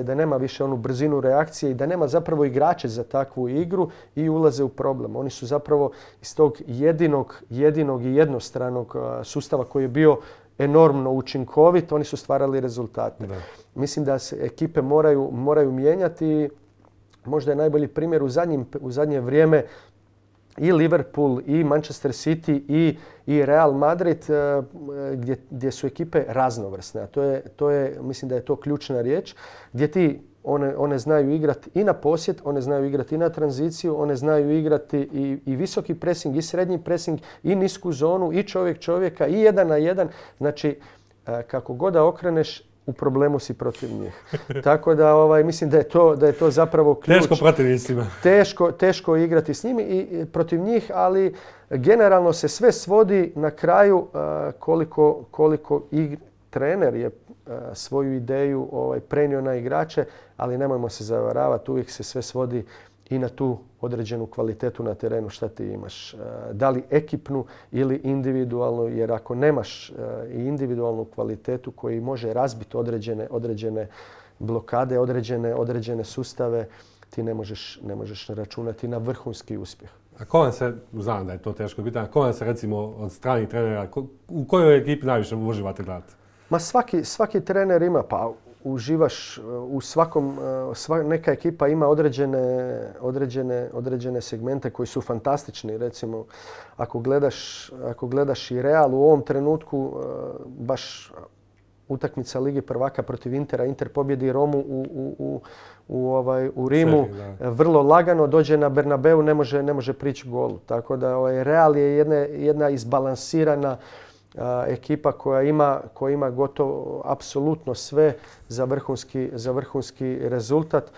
da nema više onu brzinu reakcije i da nema zapravo igrače za takvu igru i ulaze u problem. Oni su zapravo iz tog jedinog i jednostranog sustava koji je bio enormno učinkovit, oni su stvarali rezultate. Da. Mislim da se ekipe moraju mijenjati. Možda je najbolji primjer u zadnje vrijeme i Liverpool i Manchester City i Real Madrid gdje su ekipe raznovrsne. A mislim da je to ključna riječ, gdje one znaju igrati i na posjed, one znaju igrati i na tranziciju, one znaju igrati i visoki pressing, i srednji pressing, i nisku zonu, i čovjeka, i 1 na 1. Znači, kako god da okreneš, u problemu si protiv njih. Tako da mislim da je to zapravo ključ. Teško protivnicima. Teško igrati s njimi i protiv njih, ali generalno se sve svodi na kraju koliko trener je svoju ideju prenio na igrače, ali nemojmo se zavaravati, uvijek se sve svodi i na tu određenu kvalitetu na terenu šta ti imaš. Da li ekipnu ili individualnu, jer ako nemaš i individualnu kvalitetu koji može razbiti određene blokade, određene sustave, ti ne možeš računati na vrhunski uspjeh. A ko vam se, znam da je to teško pitanje, ko vam se recimo od stranih trenera, u kojoj ekipi najviše uživate gledati? Ma svaki trener ima, pa uživaš u svakom, neka ekipa ima određene segmente koji su fantastični. Recimo, ako gledaš i Real u ovom trenutku, baš utakmica Ligi prvaka protiv Intera. Inter pobjedi Romu u Rimu. Vrlo lagano dođe na Bernabeu, ne može prići golu. Tako da Real je jedna izbalansirana ekipa koja ima gotovo apsolutno sve za vrhunski rezultat.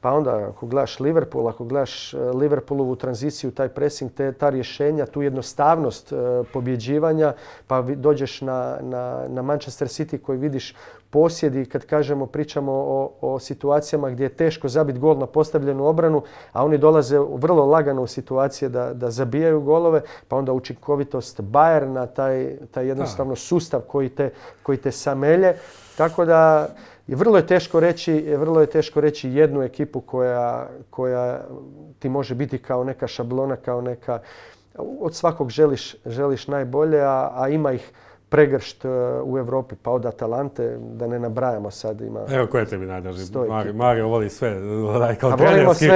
Pa onda ako gledaš Liverpool, ako gledaš Liverpoolovu tranziciju, taj pressing, ta rješenja, tu jednostavnost pobjeđivanja, pa dođeš na Manchester City koji vidiš posjedi, kad pričamo o situacijama gdje je teško zabiti gol na postavljenu obranu, a oni dolaze vrlo lagano u situacije da zabijaju golove, pa onda učinkovitost Bayerna, taj jednostavno sustav koji te samelje. Tako da vrlo je teško reći jednu ekipu koja ti može biti kao neka šablona, kao neka, od svakog želiš najbolje, a ima ih pregršt u Europi, pa od Atalante, da ne nabrajamo sad. Evo koje tebi najdraži? Mario voli sve, kao trenerski,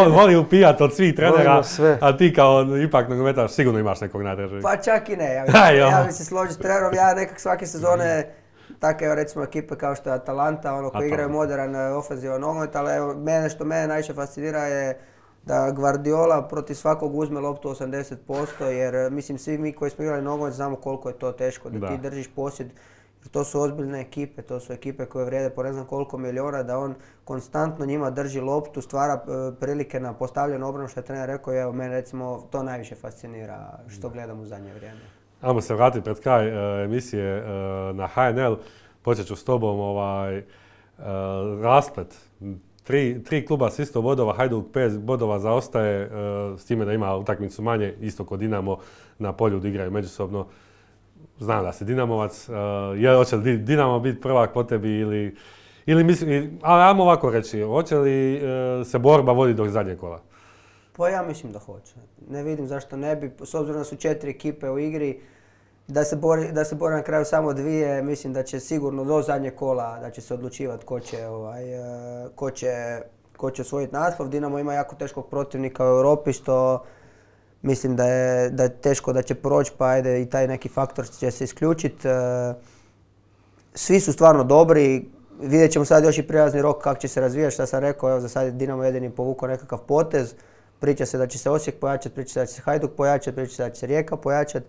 voli upijat od svih trenera, a ti kao ipak nogometaš sigurno imaš nekog najdražeg. Pa čak i ne, ja bi se složio s trenerom, ja nekak svake sezone tako recimo ekipe kao što je Atalanta, koji igraju modern ofenzivan nogomet, ali što mene najviše fascinira je da Guardiola protiv svakog uzme loptu 80%, jer mislim svi mi koji smo igrali nogomet znamo koliko je to teško, da ti držiš posjed. To su ozbiljne ekipe, to su ekipe koje vrijede po ne znam koliko milijuna, da on konstantno njima drži loptu, stvara prilike na postavljenu obranu, što je trener rekao, i evo mene recimo to najviše fascinira što gledam u zadnje vrijeme. Ajmo se vratiti pred kraj emisije na HNL. Počet ću s tobom rasplet. Tri kluba s isto bodova, Hajduk 5 bodova zaostaje, s time da ima utakmicu manje, isto kod Dinamo na polju da igraju međusobno. Znam da si Dinamovac, hoće li Dinamo biti prvak po tebi ili misli, ali ajmo ovako reći, hoće li se borba voditi do zadnjeg kola? Pa ja mislim da hoće. Ne vidim zašto ne bi, s obzirom da su 4 ekipe u igri, da se bori na kraju samo 2, mislim da će sigurno do zadnjeg kola da će se odlučivati ko će osvojiti naslov. Dinamo ima jako teškog protivnika u Europi, što mislim da je teško da će proći, pa ajde i taj neki faktor će se isključiti. Svi su stvarno dobri, vidjet ćemo sad još i prijelazni rok kako će se razvijati, što sam rekao, evo za sad je Dinamo jedini povukao nekakav potez. Priča se da će se Osijek pojačati, priča se da će se Hajduk pojačati, priča se da će se Rijeka pojačati.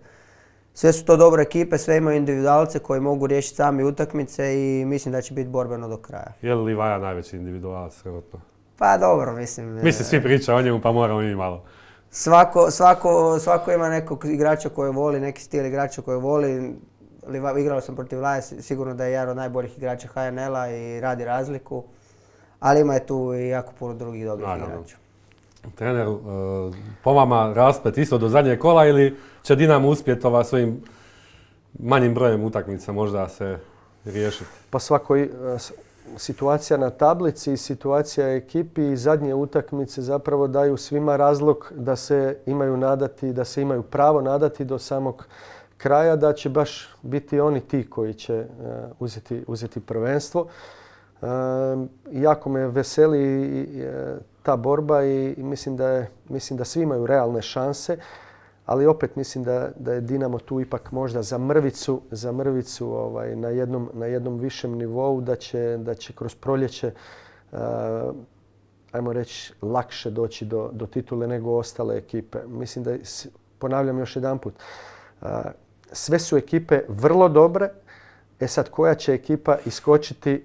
Sve su to dobre ekipe, sve imaju individualce koji mogu riješiti sami utakmice i mislim da će biti borbeno do kraja. Je li Livaja najveći individualac trenutno? Pa dobro, mislim. Mislim, svi pričaju o njemu pa moramo i malo. Svako ima nekog igrača koji voli, neki stil igrača koji voli. Igrao sam protiv Livaje, sigurno da je jedan od najboljih igrača HNL-a i radi razliku. Ali ima je tu i jako puno drugih dobrih igrača. Treneru, po vama rasplet isto do zadnjeg kola ili će Dinamo uspjeti svojim manjim brojem utakmica možda se riješiti? Pa situacija na tablici i situacija ekipi i zadnje utakmice zapravo daju svima razlog da se imaju nadati, da se imaju pravo nadati do samog kraja, da će baš biti oni ti koji će uzeti prvenstvo. Jako me veseli ta borba i mislim da svi imaju realne šanse, ali opet mislim da je Dinamo tu ipak možda za mrvicu na jednom višem nivou, da će kroz proljeće ajmo reći lakše doći do titule nego ostale ekipe. Mislim da, ponavljam još jedanput, sve su ekipe vrlo dobre. Sad koja će ekipa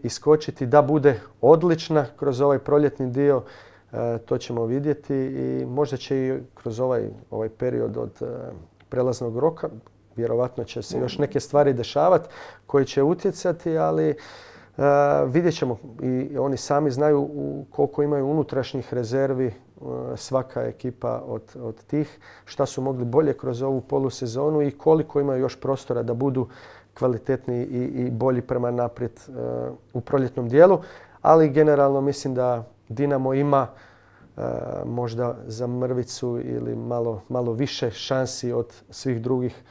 iskočiti da bude odlična kroz ovaj proljetni dio, to ćemo vidjeti i možda će i kroz ovaj period od prelaznog roka, vjerovatno će se još neke stvari dešavati koje će utjecati, ali vidjet ćemo i oni sami znaju koliko imaju unutrašnjih rezervi svaka ekipa od tih, šta su mogli bolje kroz ovu polusezonu i koliko imaju još prostora da budu kvalitetniji i bolji prema naprijed u proljetnom dijelu, ali generalno mislim da Dinamo ima možda za mrvicu ili malo više šansi od svih drugih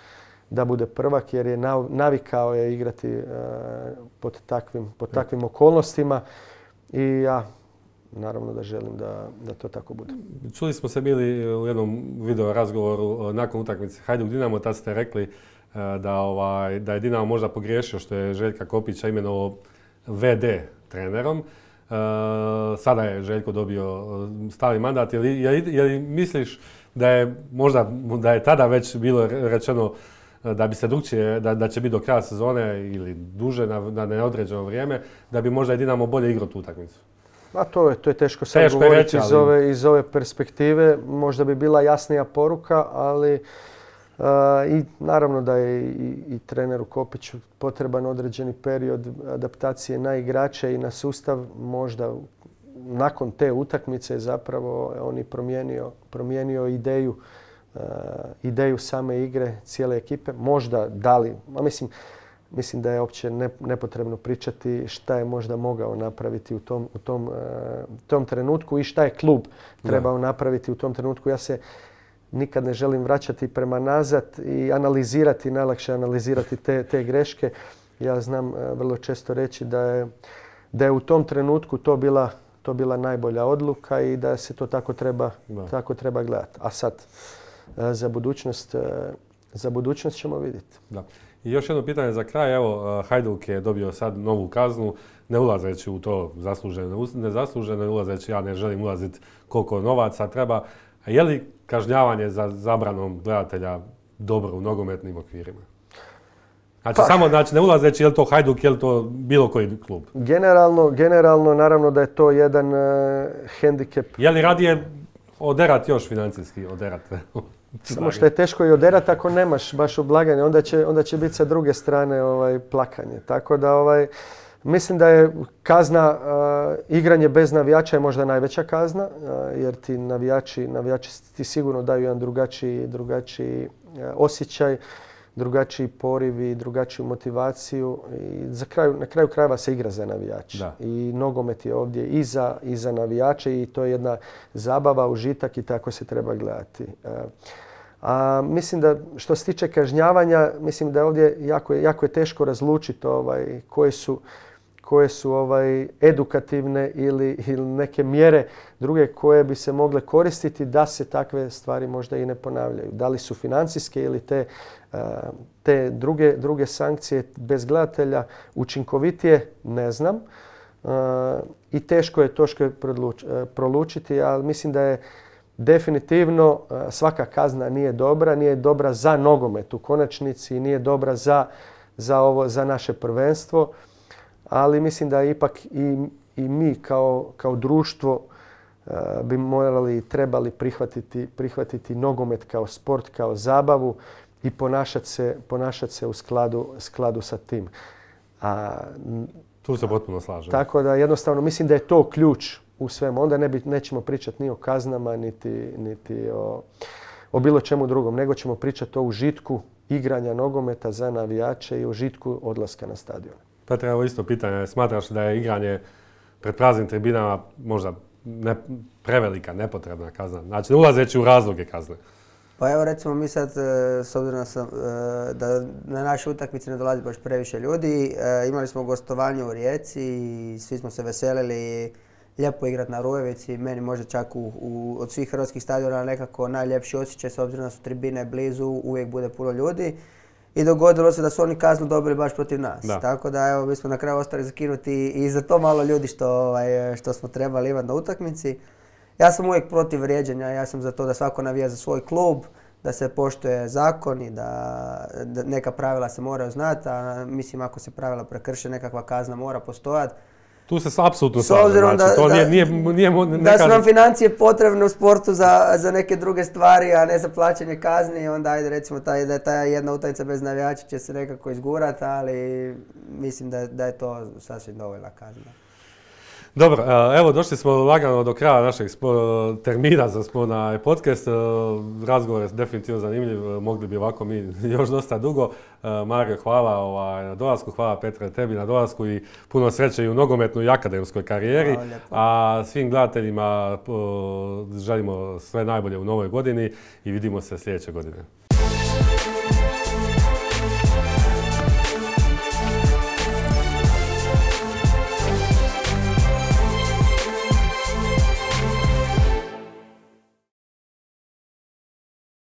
da bude prvak, jer je navikao je igrati pod takvim okolnostima i ja naravno da želim da to tako bude. Čuli smo se bili u jednom video razgovoru nakon utakmice Hajduk Dinamo, tad ste rekli da je Dinamo možda pogriješio što je Željka Kopića imenovao VD trenerom. Sada je Željko dobio stalni mandat. Je li misliš da je tada već bilo rečeno da bi se drukčije, da će biti do kraja sezone ili duže na neodređeno vrijeme, da bi možda i Dinamo bolje igrao tu utakmicu? A to je teško sad govoriti iz ove perspektive. Možda bi bila jasnija poruka, ali i naravno da je i treneru Kopiću potreban određeni period adaptacije na igrače i na sustav. Možda nakon te utakmice zapravo on je promijenio ideju same igre cijele ekipe. Možda mislim da je uopće nepotrebno pričati šta je možda mogao napraviti u tom trenutku i šta je klub trebao napraviti u tom trenutku. Ja se nikad ne želim vraćati prema nazad i najlakše analizirati te greške. Ja znam vrlo često reći da je u tom trenutku to bila najbolja odluka i da se to tako treba gledati. A sad za budućnost ćemo vidjeti. Da. I još jedno pitanje za kraj. Evo, Hajduk je dobio sad novu kaznu, ne ulazeći u to zasluženo, nezasluženo, ulazeći, ja ne želim ulaziti koliko novaca treba. A je li kažnjavanje za zabranom gledatelja dobro u nogometnim okvirima? Znači, ne ulazeći je li to Hajduk, je li to bilo koji klub? Generalno, naravno da je to jedan hendikep. Je li radije oderati još financijski, oderati? Samo što je teško i oderati ako nemaš baš oblaganje, onda će biti sa druge strane plakanje. Tako da mislim da je kazna, igranje bez navijača je možda najveća kazna, jer ti navijači ti sigurno daju jedan drugačiji osjećaj, drugačiji poriv i drugačiju motivaciju. I na kraju krajeva se igra za navijače. Da. I nogomet je ovdje i za navijače i to je jedna zabava, užitak i tako se treba gledati. Mislim da što se tiče kažnjavanja, mislim da je ovdje jako je teško razlučiti koje su edukativne ili neke mjere druge koje bi se mogle koristiti da se takve stvari možda i ne ponavljaju. Da li su financijske ili te druge sankcije bez gledatelja učinkovitije, ne znam. I teško je prolučiti, ali mislim da je definitivno svaka kazna nije dobra za nogomet u konačnici, nije dobra za naše prvenstvo. Ali mislim da ipak i mi kao društvo bi morali i trebali prihvatiti nogomet kao sport, kao zabavu i ponašati se u skladu sa tim. Tu se potpuno slažem. Tako da jednostavno mislim da je to ključ u svemu. Onda nećemo pričati ni o kaznama, niti o bilo čemu drugom, nego ćemo pričati o užitku igranja nogometa za navijače i užitku odlaska na stadion. Petre, evo isto pitanje. Smatraš da je igranje pred praznim tribinama možda prevelika, nepotrebna kazna? Znači, ne ulazeći u razloge kazne. Pa evo recimo mi sad, s obzirom da na naše utakmice ne dolazi baš previše ljudi, imali smo gostovanje u Rijeci i svi smo se veselili lijepo igrati na Rujevici. Meni možda čak od svih hrvatskih stadiona nekako najljepši osjećaj, s obzirom da su tribine blizu, uvijek bude puno ljudi. I dogodilo se da su oni kaznu dobili baš protiv nas. Da. Tako da evo, mi smo na kraju ostali zakinuti i za to malo ljudi što smo trebali imati na utakmici. Ja sam uvijek protiv vrijeđanja, ja sam za to da svako navija za svoj klub, da se poštuje zakon i da neka pravila se moraju znati, a mislim ako se pravila prekrše, nekakva kazna mora postojati. Tu se apsolutno slažem, znači to nije da su nam financije potrebne u sportu za neke druge stvari, a ne za plaćanje kazni, onda ajde recimo da je ta jedna utakmica bez navijača će se nekako izgurati, ali mislim da je to sasvim dovoljna kazna. Dobro, evo došli smo lagano do kraja našeg termina za Sporna podcast. Razgovor je definitivno zanimljiv, mogli bi ovako mi još dosta dugo. Mario, hvala na dolasku, hvala Petre tebi na dolasku i puno sreće i u nogometnoj i akademskoj karijeri. A svim gledateljima želimo sve najbolje u novoj godini i vidimo se sljedeće godine.